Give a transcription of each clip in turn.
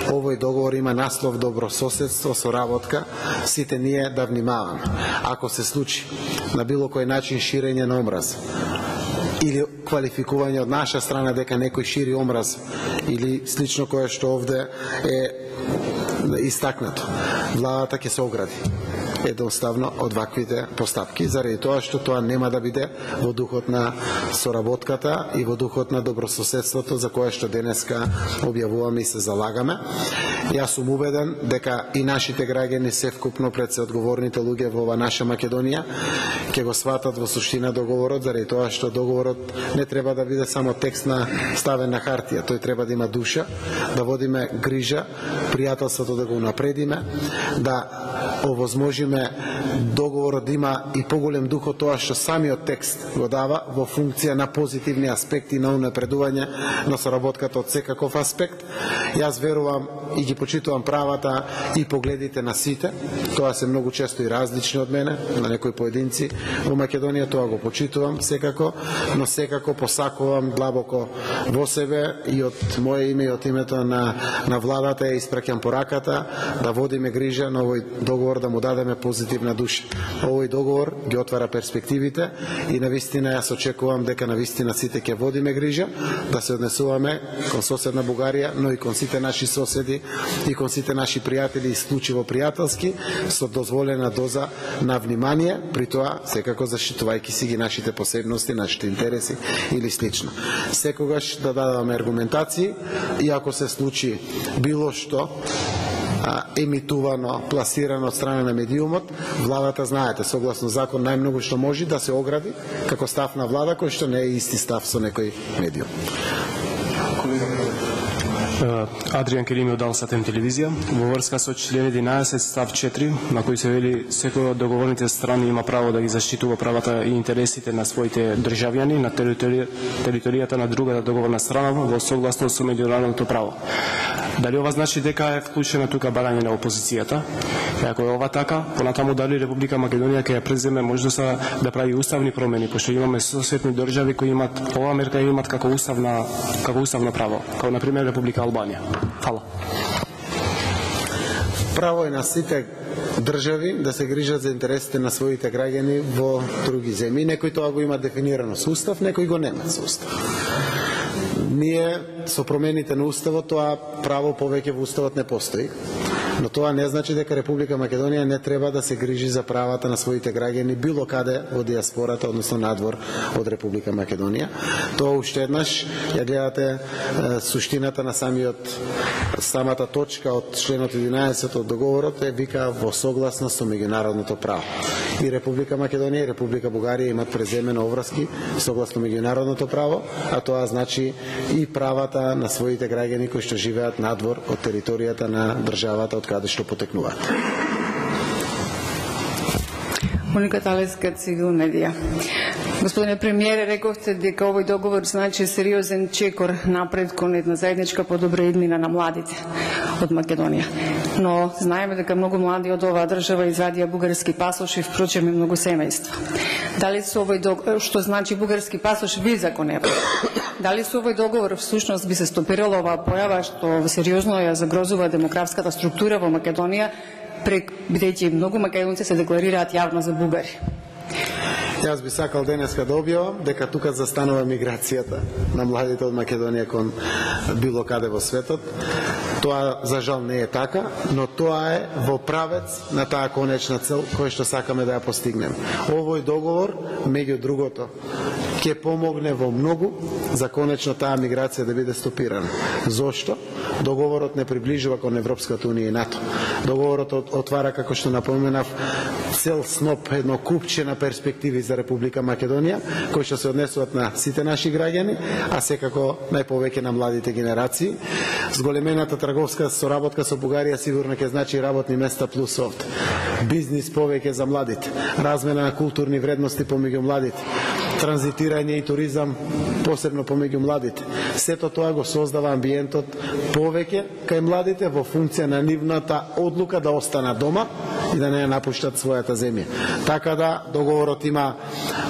Овој договор има наслов добрососедство, соработка, сите ние да внимаваме. Ако се случи на било кој начин ширење на омраз или квалификување од наша страна дека некој шири омраз или слично кое што овде е истакнато, владата ќе се огради едноставно од ваквите постапки, заради тоа што тоа нема да биде во духот на соработката и во духот на добрососедството за кое што денеска објавуваме и се залагаме. Јас сум убеден дека и нашите граѓани севкупно пред се одговорните луѓе во ова наша Македонија ќе го сватат во суштина договорот, заради тоа што договорот не треба да биде само текст на ставен на хартија, тој треба да има душа, да водиме грижа, пријателството да го унапредиме, да овозможиме договорот да има и поголем дух од тоа што самиот текст го дава во функција на позитивни аспекти на унапредување на соработката од секаков аспект. Јас верувам и ги почитувам правата и погледите на сите. Тоа се многу често и различни од мене, на некои поединци во Македонија, тоа го почитувам секако, но секако посакувам длабоко во себе и од моје име и од името на владата ја испраќам пораката да водиме грижа на овој договор, да му дадеме позитивна душа. Овој договор ги отвара перспективите и навистина јас очекувам дека навистина сите ќе водиме грижа да се однесуваме кон соседна Бугарија, но и кон сите наши соседи и кон сите наши пријатели исклучиво пријателски, со дозволена доза на внимание, при тоа секако заштитувајќи си ги нашите посебности, нашите интереси или слично. Секогаш да дадаме аргументации и ако се случи било што емитувано, пласирано од страна на медиумот, владата, знаете, согласно закон, најмногу што може да се огради како став на влада, кој што не е исти став со некој медиум. Адриан Керими од Алсатем телевизија. Во врска со член 11 став 4, на кој се вели секој од договорните страни има право да ги заштитува правата и интересите на своите државјани на територијата на другата договорна страна во согласно со меѓународното право. Дали ова значи дека е вклучена тука барање на опозицијата? И ако е ова така, понатаму дали Република Македонија ќе ја преземе можноста да прави уставни промени, пошто имаме соседни држави кои имат ова мерка и имат како уставно право, како на пример Република Албанија. Фала. Право е на сите држави да се грижат за интересите на своите граѓани во други земји. Некои тоа го има дефинирано со устав, некои го немат со устав. Ние со промените на уставот тоа право повеќе во уставот не постои. Но тоа не значи дека Република Македонија не треба да се грижи за правата на своите граѓани било каде во диаспората, односно надвор од Република Македонија. Тоа уште еднаш ја гледате суштината на самата точка од членот 11 од договорот е вика во согласност со меѓународното право. И Република Македонија и Република Бугарија имат преземено обврски согласно меѓународното право, а тоа значи и правата на своите граѓани кои што живеат надвор од територијата на државата од каде што потекнуваат. Моника Талеска, Цивил медија. Господине премиере, рековте дека овој договор значи сериозен чекор напред кон една заедничка подобра иднина на младите од Македонија. Но знаеме дека многу млади од оваа држава извадија бугарски пасош и впрочем и многу семејства. Дали со овој договор, што значи бугарски пасош, виза кон Европа? Дали со овој договор всушност би се стопирала оваа појава што сериозно ја загрозува демографската структура во Македонија, бидејќи многу македонци се декларираат јавно за бугари? Јас би сакал денеска да објавам дека тука застанува миграцијата на младите од Македонија кон било каде во светот. Тоа за жал не е така, но тоа е во правец на таа конечна цел која што сакаме да ја постигнеме. Овој договор, меѓу другото, ќе помогне во многу за конечно таа миграција да биде стопирана. Зошто? Договорот не приближува кон Европската унија и НАТО. Договорот отвара, како што напоменав, цел сноп, едно купче на перспективи за Република Македонија, кои што се однесуваат на сите наши граѓани, а секако најповеќе на младите генерации. Зголемената трговска соработка со Бугарија сигурно ќе значи работни места плюс овде. Бизнис повеќе за младите, размена на културни вредности помеѓу младите. транзитирање и туризам, посебно помеѓу младите. Сето тоа го создава амбиентот повеќе кај младите во функција на нивната одлука да останат дома и да не напуштат својата земја. Така да договорот има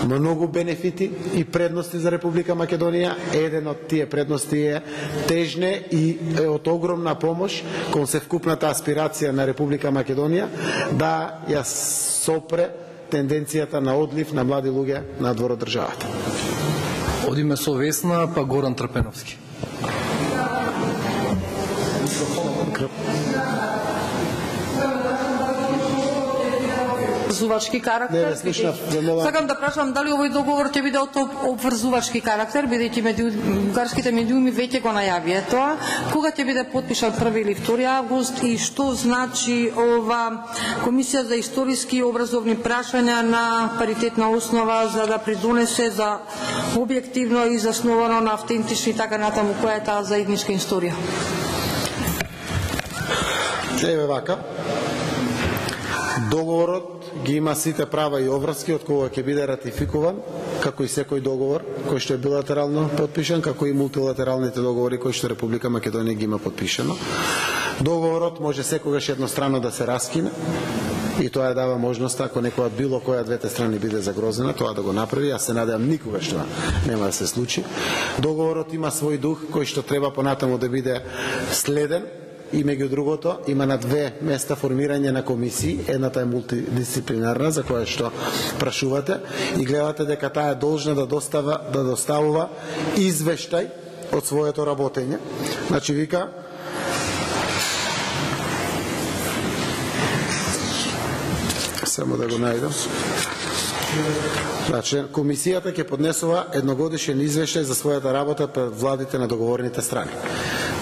многу бенефити и предности за Република Македонија. Еден од тие предности е тежне и е од огромна помош кон севкупната аспирација на Република Македонија да ја сопре тенденцијата на одлив на млади луѓе надвор од државата. Одиме со Весна, па Горан Трпеновски. Обврзувачки карактер. Сакам да прашам дали овој договор ќе биде од обврзувачки карактер, бидејќи бугарските медиуми веќе го најавија тоа. Кога ќе биде потпишан 1 или 2 август и што значи ова Комисија за историски и образовни прашања на паритетна основа за да придонесе за објективно и засновано на автентични така натаму која е таа заедничка историја? Еве вака. Договорот ги има сите права и обврски од кога ќе биде ратификуван, како и секој договор кој што е билатерално подпишан, како и мултилатералните договори кои што Република Македонија ги има подпишано. Договорот може секогаш еднострано да се раскине и тоа дава можност ако некоја било која двете страни биде загрозена, тоа да го направи. Јас се надевам никогаш тоа нема да се случи. Договорот има свој дух кој што треба понатаму да биде следен. И меѓу другото има на 2 места формирање на комисии, едната е мултидисциплинарна за која што прашувате и гледате дека таа е должна да доставува извештај од своето работење. Значи вика само да го најдам. Значи, комисијата ќе поднесува едногодишен извештај за својата работа пред владите на договорните страни.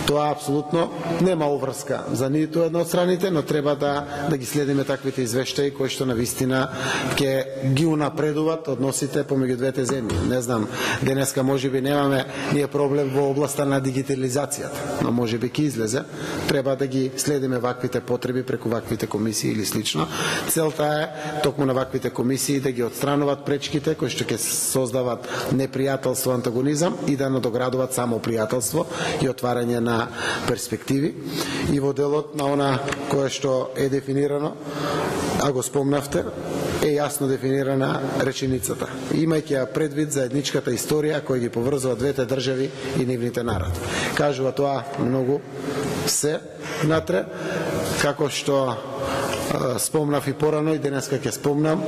Тоа апсолутно нема обврска за ниту една од страните, но треба да ги следиме таквите извештаи кои што навистина ќе ги унапредуваат односите помеѓу двете земји. Не знам, денеска можеби немаме ние проблем во областа на дигитализацијата, но можеби ќе излезе. Треба да ги следиме ваквите потреби преку ваквите комисии или слично. Целта е токму на ваквите комисии да ги отстрануваат пречките кои што ќе создават непријателство, антагонизам и да надоградуваат само пријателство и отварање на перспективи. И во делот на она кое што е дефинирано, а го спомнавте, е јасно дефинирана реченицата. Имајќи ја предвид заедничката историја која ги поврзува двете држави и нивните народи. Кажува тоа многу се натре, како што спомнав и порано и денеска ќе спомнам,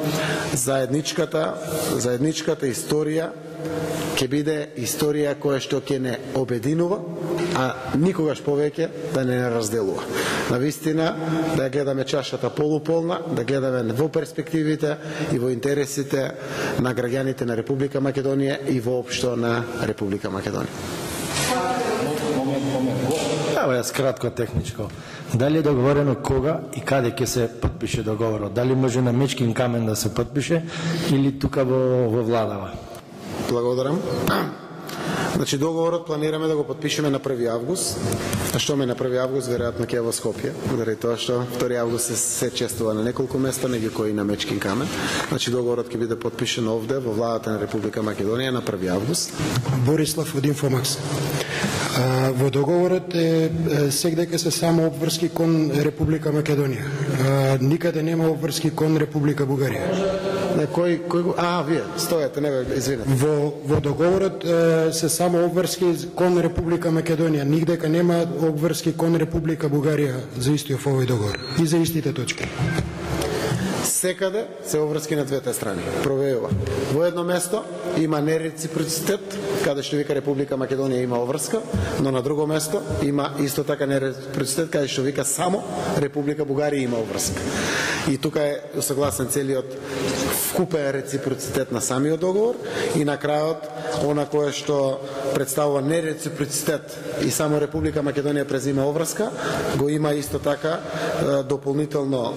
заедничката историја ќе биде историја која што ќе не обединува, а никогаш повеќе да не разделува. Навистина да гледаме чашата полуполна, да гледаме во перспективите и во интересите на граѓаните на Република Македонија и воопшто на Република Македонија. Ево јас кратко техничко. Дали е договорено кога и каде ќе се подпише договорот? Дали може на мечкин камен да се подпише или тука во владава? Благодарам. Значи договорот планираме да го подпишеме на 1 август. А што ме на 1 август, веројатно ќе во Скопје, заради тоа што 2 август се чествува на неколку места, меѓу кои на Мечкин камен. Значи договорот ќе биде подпишен овде во владата на Република Македонија на 1 август. Борислав од Инфомакс. Во договорот сегдека се само обврски кон Република Македонија. Никаде нема обврски кон Република Бугарија. Вие стојате, не бе, извинете. Во договорот се само обврски кон Република Македонија. Нигдека нема обврски кон Република Бугарија за истиот овој договор и за истите точки. Секаде се обврски на двете страни. Провејува. Во едно место има нереципроцитет, каде што вика Република Македонија има обврска, но на друго место има исто така нереципроцитет, каде што вика само Република Бугарија има обврска. И тука е согласен целиот вкупен реципроцитет на самиот договор и на крајот она кое што представува нереципроцитет и само Република Македонија презима обврска, го има исто така дополнително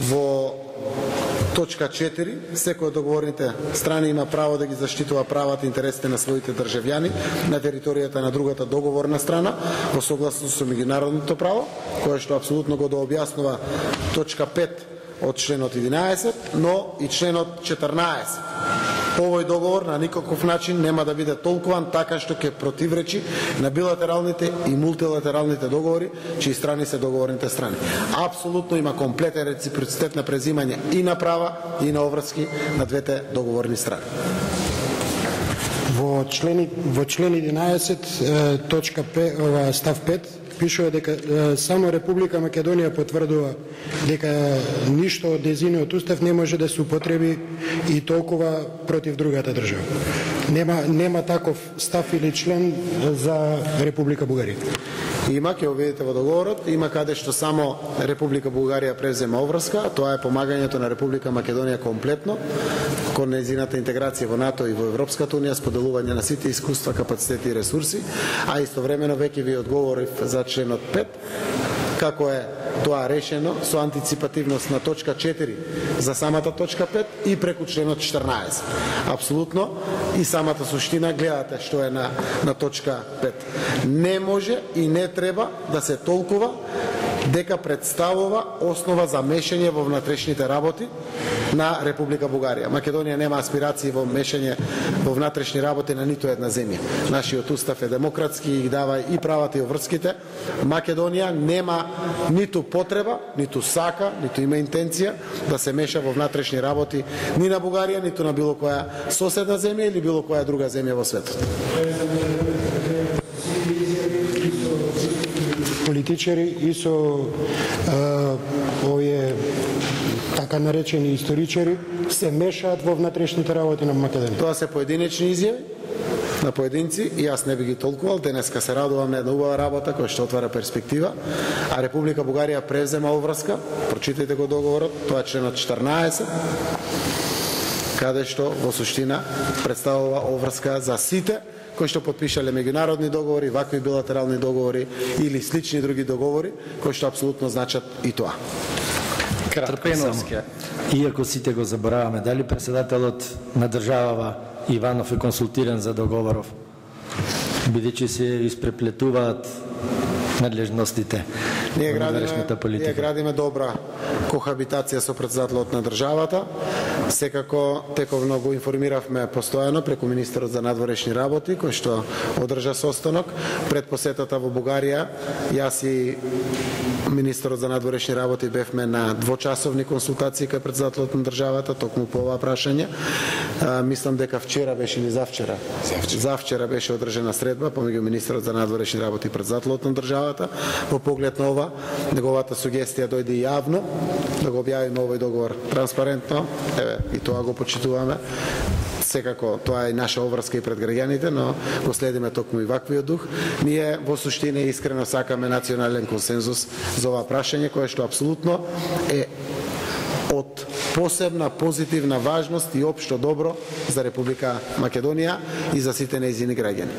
во точка 4, секој од договорните страни има право да ги заштитува правата и интересите на своите државјани на територијата на другата договорна страна во согласност со меѓународното право, кое што апсолутно го дообјаснува точка 5 од членот 11, но и членот 14 Овој договор на никаков начин нема да биде толкуван така што ќе противречи на билатералните и мултилатералните договори, чии страни се договорните страни. Апсолутно има комплетен реципроцитет на презимање и на права и на обврски на двете договорни страни. Во член 11 точка 5, став 5 пишува дека само Република Македонија потврдува дека ништо од дезиниот устав не може да се употреби и толкова против другата држава. Нема таков став или член за Република Бугарија. Има, ќе го видите во договорот, има каде што само Република Бугарија презема обврска, тоа е помагањето на Република Македонија комплетно кон нејзината интеграција во НАТО и во Европската унија, споделување на сите искуства, капацитети и ресурси, а истовремено веќе ви одговорив за членот 5, како е тоа решено со антиципативност на точка 4 за самата точка 5 и преку членот 14. Апсолутно и самата суштина гледате што е на точка 5. Не може и не треба да се толкува дека представува основа за мешање во внатрешните работи на Република Бугарија. Македонија нема аспирации во мешање во внатрешни работи на ниту една земја. Нашиот устав е демократски и дава и правата и обврските. Македонија нема ниту потреба, ниту сака, ниту има интенција да се меша во внатрешни работи ни на Бугарија, ниту на било која соседна земја или било која друга земја во светот. Политичари и со овие така наречени историчари се мешаат во внатрешните работи на Македонија. Тоа се поединечни изјави на поединци и јас не би ги толкувал. Денеска се радувам на една убава работа која што отвара перспектива, а Република Бугарија презема обврска. Прочитајте го договорот, тоа е членот 14, каде што во суштина представува обврска за сите кои што подпишале меѓународни договори, вакви билатерални договори или слични други договори, кои што апсолутно значат и тоа. Трпено, иако сите го забораваме, дали председателот на државава Иванов е консултиран за договоров, бидејќи се испреплетуваат надлежностите Ние во внатрешната политика. Ние градиме добра кохабитација со председателот на државата. Секако тековно го информиравме постојано преку министерот за надворешни работи, кој што одржа состанок. Пред посетата во Бугарија, јас и министерот за надворешни работи бевме на двочасовни консултации кај председателот на државата, токму по ова прашање. Мислам дека вчера беше или завчера. Завчера беше одржана средба помеѓу министерот за надворешни работи и председателот на државата. Во поглед на ова, неговата сугестија дојде јавно да го објавиме овој договор транспарентно. Еве, и тоа го почитуваме. Секако тоа е наша обврска и пред граѓаните, но го следиме токму и ваквиот дух. Ние во суштина искрено сакаме национален консензус за ова прашање, кое што апсолутно е од посебна позитивна важност и општо добро за Република Македонија и за сите нејзини граѓани.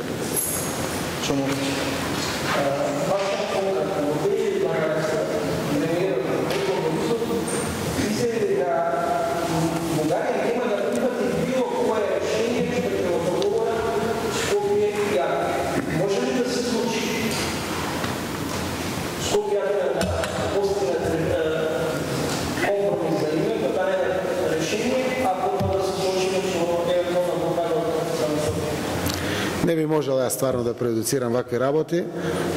Не би можел јас стварно да преюдицирам вакви работи,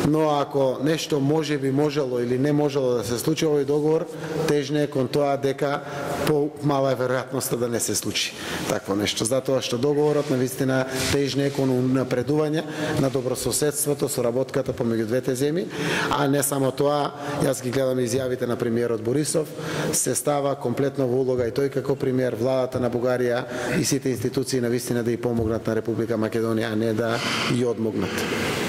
но ако нешто може би можело или не можело да се случи овој договор, тежне е кон тоа дека помала е веројатноста да не се случи такво нешто. Затоа што договорот навистина тежне е кон напредување на добрососедството, соработката помеѓу двете земји, а не само тоа, јас ги гледам изјавите на премиерот Борисов, се става комплетно во улога и тој како премиер, владата на Бугарија и сите институции навистина да ја помогнат на Република Македонија, а не да ја одмогнат.